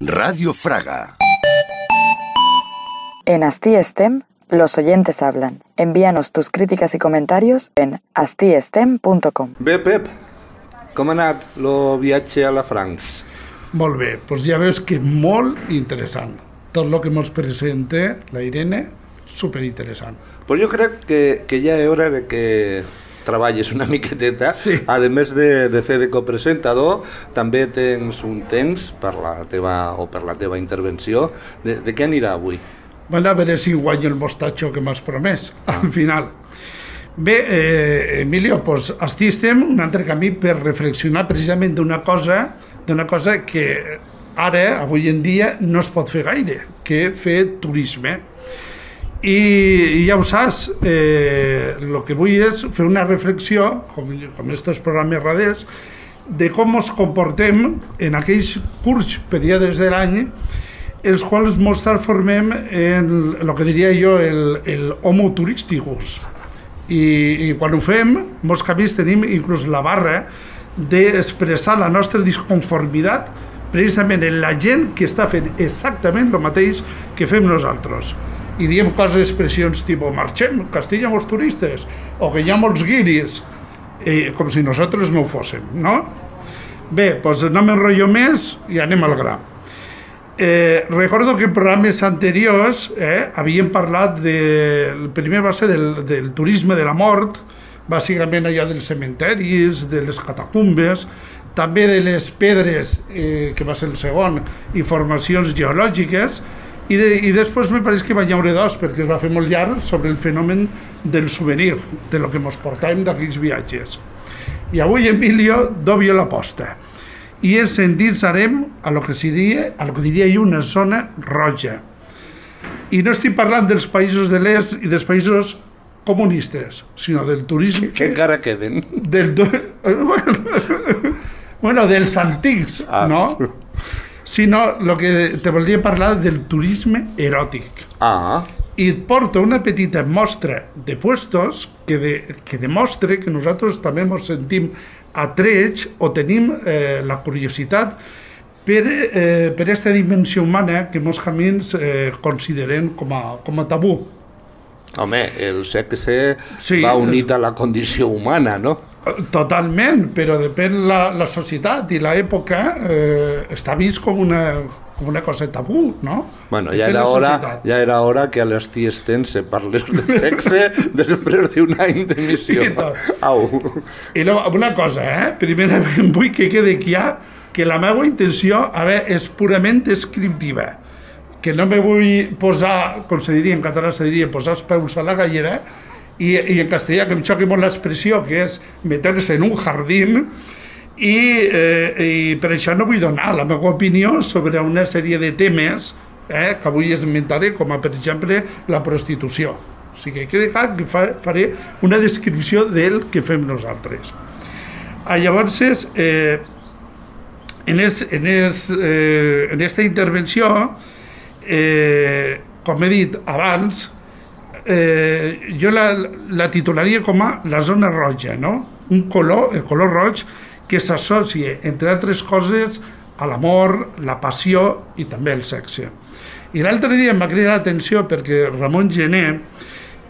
Radio Fraga. En Asti Estem, los oyentes hablan. Envíanos tus críticas y comentarios en astiestem.com. Bé, Pep, com ha anat el viatge a la France? Molt bé, doncs ja veus que molt interessant. Tot el que ens presenta la Irene, superinteressant. Pues jo crec que ja és hora de que treballes una miqueteta. Sí. A més de fer de copresentador, també tens un temps per la teva intervenció. De què anirà avui? Bueno, a veure si guanyo el mostatxo que m'has promès, al final. Bé, Emilio, doncs estem un altre camí per reflexionar precisament d'una cosa que ara, avui en dia, no es pot fer gaire, que fer turisme. I ja ho saps, el que vull és fer una reflexió, com aquests programes raders, de com ens comportem en aquells curts períodes de l'any els quals ens transformem en el que diria jo el homo turísticus. I quan ho fem, molts canvis tenim inclús la barra d'expressar la nostra disconformitat precisament en la gent que està fent exactament el mateix que fem nosaltres. I diem coses, expressions tipus marxem, castiguen els turistes, o que hi ha molts guiris, com si nosaltres no ho fóssim, no? Bé, doncs no m'enrotllo més i anem al gra. Recordo que en programes anteriors havíem parlat el primer va ser del turisme de la mort, bàsicament allò dels cementeris, de les catacumbes, també de les pedres, que va ser el segon, i formacions geològiques, i després me pareix que va haure dos, perquè es va fer molt llarg sobre el fenomen del souvenir, de lo que ens portàvem d'aquells viatges. I avui, Emilio, doble l'aposta. I ens endinsarem a lo que diria jo una zona roja. I no estic parlant dels països de l'est i dels països comunistes, sinó del turisme... Que encara queden. Bueno, dels antics, no? Sinó el que te volia parlar del turisme eròtic. I et porto una petita mostra de puestos que demostra que nosaltres també ens sentim atrets o tenim la curiositat per aquesta dimensió humana que molts camins considerem com a tabú. Home, el sexe va unit a la condició humana, no? Totalment, però depèn la societat i l'època està vist com una cosa tabú, no? Bueno, ja era hora que a l'Asti Estem se parles de sexe després d'un any d'emissió. Au. I una cosa, primerament vull que quedi clar que la meva intenció és purament descriptiva, que no me vull posar, com se diria en català, se diria posar els peus a la gallera, i en castellà que em xoqui molt l'expressió, que és meter-se en un jardín, i per això no vull donar la meva opinió sobre una sèrie de temes que avui esmentaré, com per exemple la prostitució. O sigui, que faré una descripció del que fem nosaltres. Llavors, en aquesta intervenció, com he dit abans, jo la titularia com a la zona roja, no? El color roig que s'associa, entre altres coses, a l'amor, la passió i també el sexe. I l'altre dia em va cridar l'atenció perquè Ramon Gené,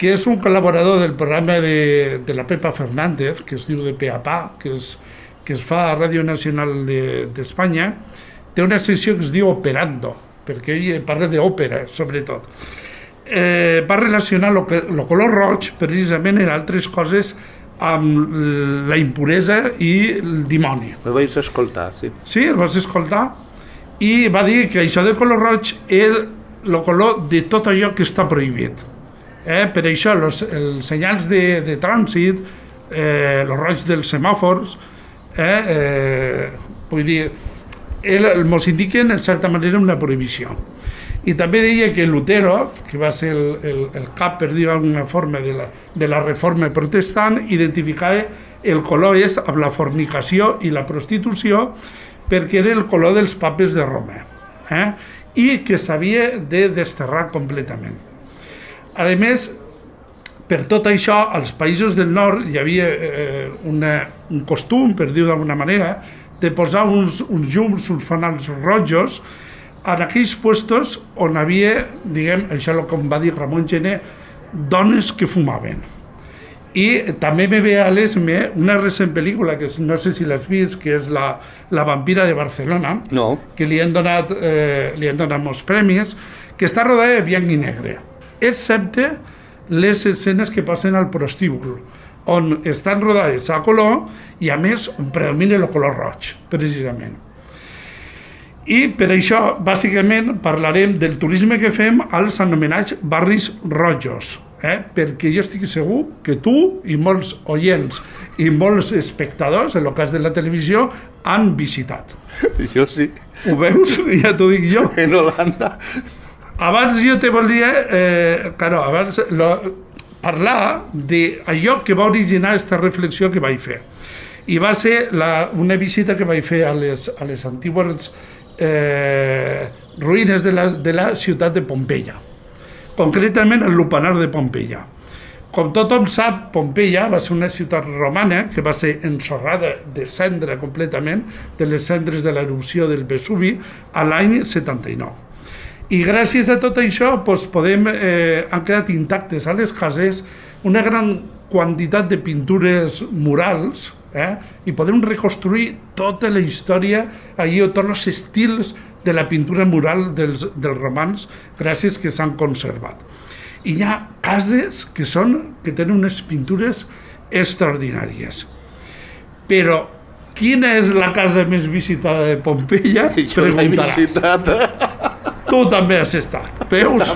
que és un col·laborador del programa de la Pepa Fernández, que es diu de Peapà, que es fa a Ràdio Nacional d'Espanya, té una secció que es diu Operando, perquè ell parla d'òpera, sobretot. Va relacionar el color roig precisament en altres coses amb la impuresa i el dimoni. El vaig escoltar, sí. Sí, el vas escoltar? I va dir que això del color roig és el color de tot allò que està prohibit. Per això els senyals de trànsit, el roig dels semàfors, vull dir, ens indiquen en certa manera una prohibició. I també deia que Lutero, que va ser el cap, per dir d'alguna forma, de la reforma protestant, identificava el color amb la fornicació i la prostitució perquè era el color dels papes de Roma i que s'havia de desterrar completament. A més, per tot això, als països del nord hi havia un costum, per dir d'alguna manera, de posar uns llums, uns fanals rojos en aquells puestos on havia, diguem, això com va dir Ramon Gené, dones que fumaven. I també me ve a l'esme una recent pel·lícula, que no sé si l'has vist, que és La vampira de Barcelona, que li han donat molts premis, que està rodada de blanc i negre, excepte les escenes que passen al prostíbul, on estan rodades a color i a més predomina el color roig, precisament. I per això, bàsicament, parlarem del turisme que fem als anomenats barris rojos, perquè jo estic segur que tu i molts oients i molts espectadors, en el cas de la televisió, han visitat. Jo sí. Ho veus? Ja t'ho dic jo. En Holanda. Abans jo te volia parlar d'allò que va originar aquesta reflexió que vaig fer. I va ser una visita que vaig fer a les antigues ruïnes de la ciutat de Pompeia, concretament al Lupanar de Pompeia. Com tothom sap, Pompeia va ser una ciutat romana que va ser ensorrada de cendra completament, de les cendres de l'erupció del Vesuvi, a l'any 79. I gràcies a tot això han quedat intactes a les cases una gran quantitat de pintures murals i podem reconstruir tota la història, tots els estils de la pintura mural dels romans, gràcies que s'han conservat. I hi ha cases que tenen unes pintures extraordinàries. Però quina és la casa més visitada de Pompeia? Jo l'he visitat. Tu també has estat, veus?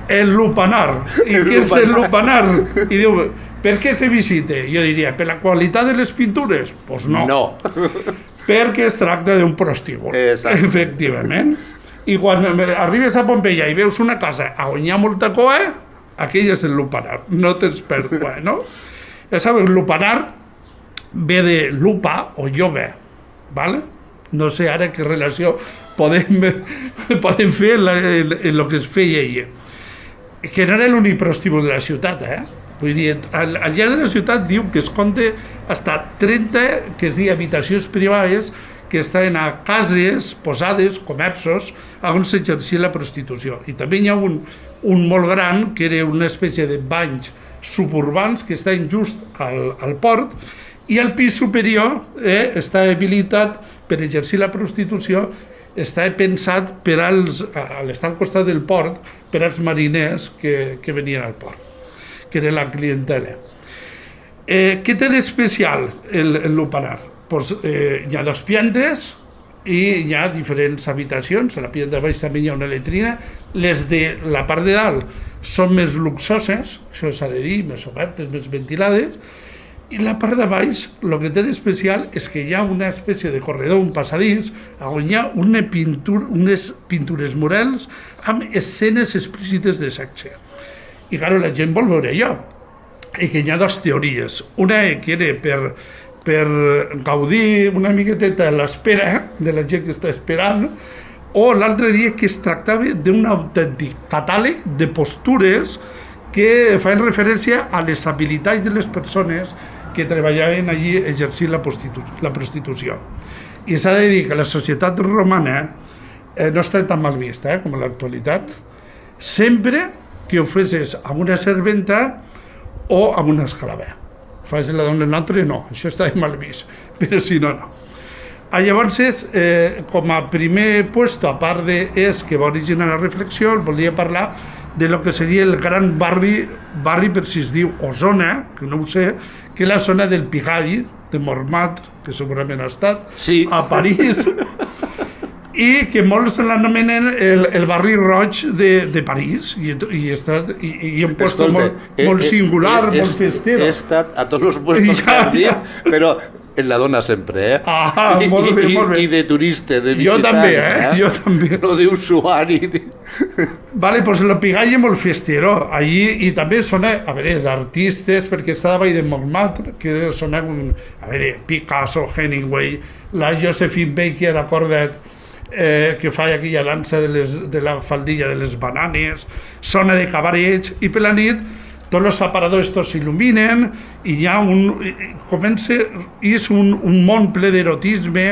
El Lupanar. I què és el Lupanar? I diu, per què se visita? Jo diria, per la qualitat de les pintures? Doncs no. No. Perquè es tracta d'un prostíbul, efectivament. I quan arribes a Pompeia i veus una casa on hi ha molta coa, aquell és el Lupanar, no tens pèrdua, no? Ja sabeu, el Lupanar ve de lupa o llove, ¿vale? No sé ara què relació podem fer en el que es feia ella. Que no era l'únic prostíbul de la ciutat, Vull dir, al llarg de la ciutat diu que es compta fins a 30, que es diu habitacions privades, que estaven a cases, posades, comerços, on s'exercia la prostitució. I també hi ha un molt gran, que era una espècie de banys suburbans que estaven just al port, i el pis superior està habilitat per exercir la prostitució, està pensat per estar al costat del port per als mariners que venien al port, que era la clientela. Què té d'especial el Lupanar? Hi ha 2 piantes i hi ha diferents habitacions. A la planta de baix també hi ha una letrina. Les de la part de dalt són més luxoses, això s'ha de dir, més obertes, més ventilades. I la part de baix, el que té d'especial és que hi ha una espècie de corredor, un passadís, on hi ha unes pintures murals amb escenes explícites de sexe. I clar, la gent vol veure allò. I que hi ha 2 teories. Una que era per gaudir una miqueteta a l'espera de la gent que està esperant, o l'altre dia que es tractava d'un autèntic catàleg de postures que fan referència a les habilitats de les persones que treballaven allí exercint la prostitució. I s'ha de dir que la societat romana no està tan mal vista com a l'actualitat, sempre que ho fessis amb una serventa o amb una esclava. Fas la dona l'altre, no, això està mal vist, però si no, no. Llavors, com a primer puesto, a part és que va originar la reflexió, volia parlar de lo que seria el gran barri per si es diu, o zona, que no ho sé, que és la zona del Pigalle, de Montmartre, que segurament ha estat, a París, i que molts l'anomenen el barri roig de París, i un puesto molt singular, molt festero. He estat a tots els puestos que has dit, però en la dona sempre, Ah, molt bé, molt bé. I de turista, de Jo també, jo també. No d'usuari. Vale, doncs el Pigalle molt festero, allí, i també sona, a veure, d'artistes, perquè està davall de Montmartre, que sona, a veure, Picasso, Hemingway, la Josephine Baker, acorda't, que fa aquella dansa de la faldilla de les bananes, sona de cabarets, i per la nit tots els aparadors estos s'il·luminen i hi ha és un món ple d'erotisme,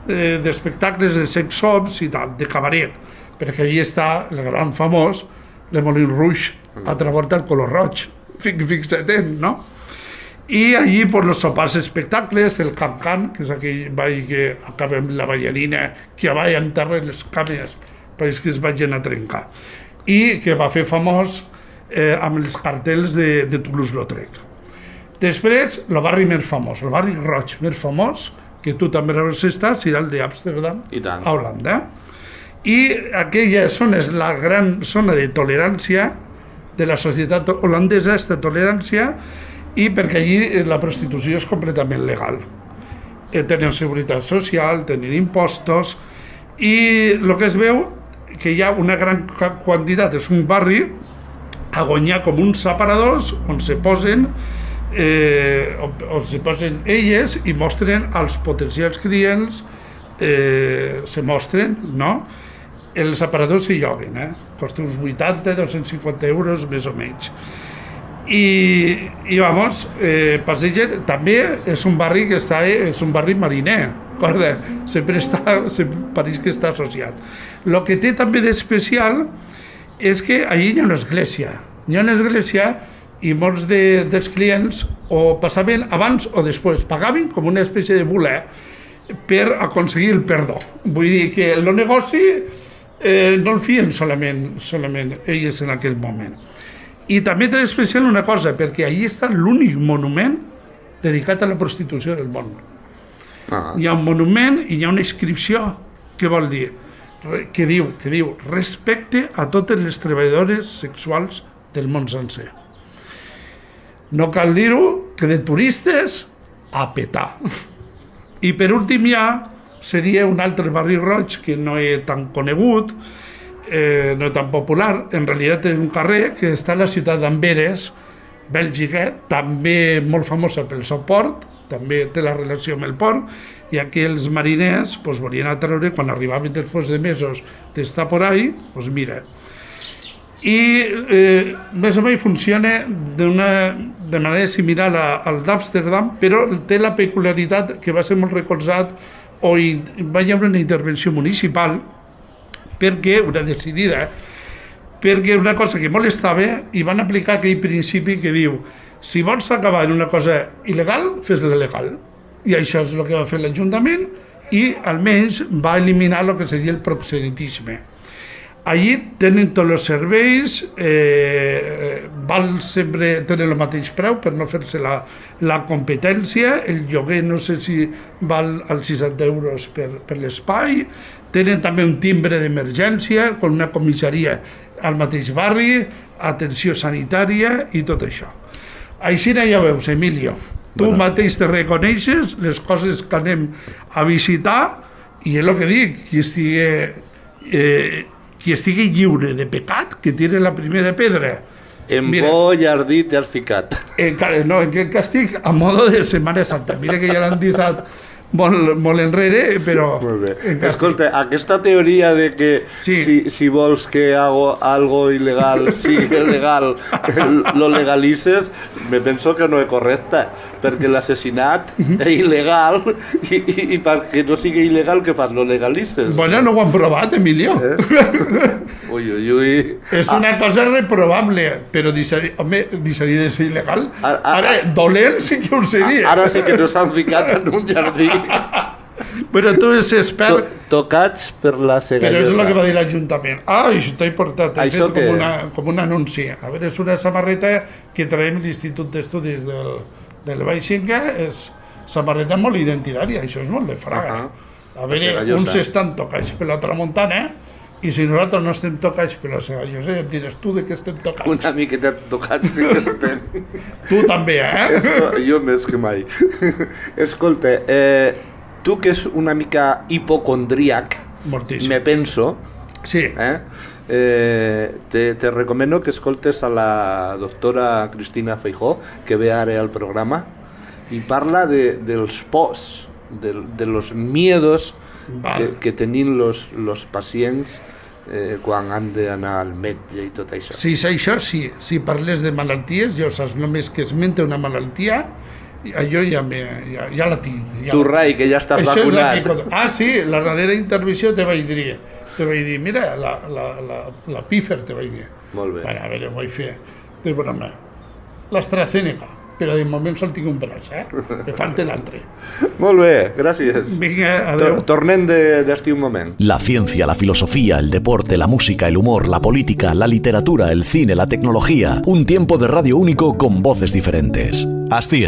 d'espectacles de sex shops i tal, de cabaret, perquè allí està el gran famós Le Moulin Rouge, altra volta el color roig, fixa't, no? I allí pues, los sopars espectacles, el can-can, que és aquell ball que acaba amb la ballarina que va enterrar les cames perquè que es vagin a trencar, i que va fer famós amb els cartells de Toulouse-Lautrec. Després, el barri més famós, el barri roig més famós, que tu també has estat, serà el d'Amsterdam, a Holanda. I aquella zona és la gran zona de tolerància de la societat holandesa, aquesta tolerància, i perquè allí la prostitució és completament legal. Tenen seguretat social, tenen impostos, i el que es veu que hi ha una gran quantitat, és un barri a guanyar com uns aparadors on se posen elles i mostren als potencials clients, se mostren, no? Els aparadors s'hi lloguen, costa uns 80-250 euros més o menys. I vamos, passegen, també és un barri que està, és un barri mariner, sempre pareix que està associat. El que té també d'especial és que allí hi ha una església, i molts dels clients o passaven abans o després, pagaven com una espècie de bolet per aconseguir el perdó. Vull dir que el negoci no el feien solament elles en aquell moment. I també té d'especial una cosa, perquè allí està l'únic monument dedicat a la prostitució del món. Hi ha un monument i hi ha una inscripció que vol dir, que diu respecte a totes les treballadores sexuals del món sencer. No cal dir-ho, que de turistes a petar. I per últim seria un altre barri roig que no és tan conegut, no és tan popular. En realitat és un carrer que està a la ciutat d'Amberes, Bèlgica, també molt famosa pel seu port, també té la relació amb el port, i aquí els mariners volien atreure, quan arribaven després de mesos d'estar por ahí, mira. I més o menys funciona de manera similar al d'Amsterdam, però té la peculiaritat que va ser molt recolzat o va haver una intervenció municipal perquè, una decidida, perquè una cosa que molestava i van aplicar aquell principi que diu si vols acabar en una cosa il·legal, fes-la legal. I això és el que va fer l'Ajuntament i almenys va eliminar el que seria el proxenetisme. Allí tenen tots els serveis, val sempre tenir el mateix preu per no fer-se la competència, el lloguer no sé si val als 60 euros per l'espai, tenen també un timbre d'emergència, amb una comissaria al mateix barri, atenció sanitària i tot això. Així ja veus, Emilio, tu mateix te reconeixes les coses que anem a visitar i és el que dic, qui estigui lliure de pecat, que tire la primera pedra. En bo jardí t'has ficat. No, que estic a modo de Setmana Santa. Mira que ja l'han deixat molt enrere, però... Molt bé. Escolta, aquesta teoria de que si vols que algo il·legal sigui legal, lo legalices, me penso que no és correcte, perquè l'assassinat és il·legal i perquè no sigui il·legal, què fas? Lo legalices? Bueno, no ho han provat, Emilio. Ui, ui, ui. És una cosa reprobable, però deixaria de ser il·legal. Ara, dolent sí que ho seria. Ara sí que no s'han ficat en un jardí. Però tu ets expert... Tocats per la cegallosa. Però és el que va dir l'Ajuntament. Això t'he portat, he fet com un anunci. A veure, és una samarreta que traiem l'Institut d'Estudis del Baixinga, és samarreta molt identitària, això és molt de fraga. A veure, uns estan tocats per la tramuntana, i si nosaltres no estem tocats per la cegallosa, ja em diràs tu de què estem tocats. Una miqueta tocats sí que estem. Tu també, Jo més que mai. Escolta, tu que és una mica hipocondríac, me penso, te recomano que escoltes a la doctora Cristina Feijó, que ve ara al programa, i parla dels pors, de los miedos que tenim los pacients quan han d'anar al metge i tot això. Sí, això sí. Si parles de malalties, jo saps, només que esmente una malaltia, jo ja la tinc. Tu, Rai, que ja estàs vacunat. Sí, la darrera intervenció te vaig dir, mira, la pífer, te vaig dir. Molt bé. Bueno, a veure, ho vaig fer de broma. L'AstraZeneca, però de moment sol tinc un braç, que falta l'altre. Molt bé, gràcies. Vinga, adéu. Tornem d'estir un moment. La ciencia, la filosofía, el deporte, la música, el humor, la política, la literatura, el cine, la tecnología. Un tiempo de radio único con voces diferentes. Asti